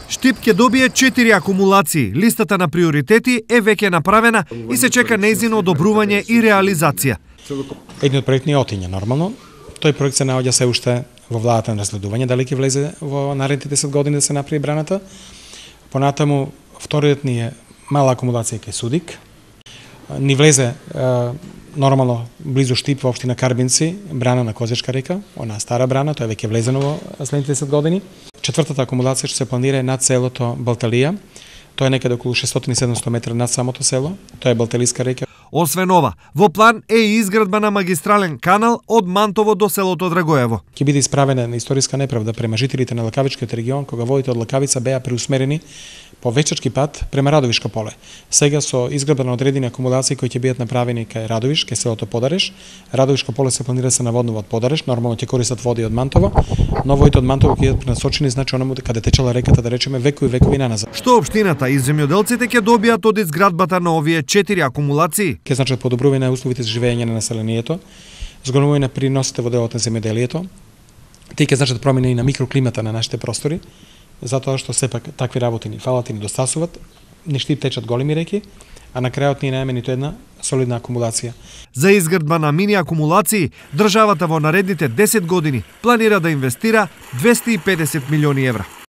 Штип ќе добие 4 акумулации. Листата на приоритети е веќе направена и се чека нејзино одобрување и реализација. Едниот проект не отиња нормално. Тој проект се наоѓа се уште во владата на разгледување, дали ќе влезе во наредните 10 години да се направи браната. Понатаму, вториот ни е мала акумулација кај Судик. Ни влезе нормално близу Штип во општина Карбинци, брана на Козечка река, она стара брана, тоа е веќе влезено во следните 10 години. Четвртата акумулација што се планира е над селото Балталија. Тоа е некаде околу 600-700 метра над самото село. Тоа е Балталиска река. Освен ова, во план е и изградба на магистрален канал од Мантово до селото Драгоево. Ќе биде исправена историска неправда према жителите на Лакавичкиот регион, кога водите од Лакавица беа преусмерени по вечачки пат према Радовишко поле. Сега со изградба на одредени акумулации кои ќе бидат направени кај Радовиш, кај селото Подареш, Радовишко поле се планира да се наводнува од Подареш, нормално ќе користат води од Мантово, но водите од Мантово ќе бидат пренасочени значи онаму каде течела реката, да речеме векови наназад. Што општината и земјоделците ќе добијат од изградбата на овие 4 акумулации? Ќе значат подобрување на условите за живење на населението, зголемување на приносите во делот на земјоделието, тие ќе значат промени и на микроклимата на нашите простори, затоа што сепак такви работи ни фалат и ни достасуваат, ни Штип течат големи реки, а на крајот ни немаме ниту една солидна акумулација. За изградба на мини акумулации, државата во наредните 10 години планира да инвестира 250 милиони евра.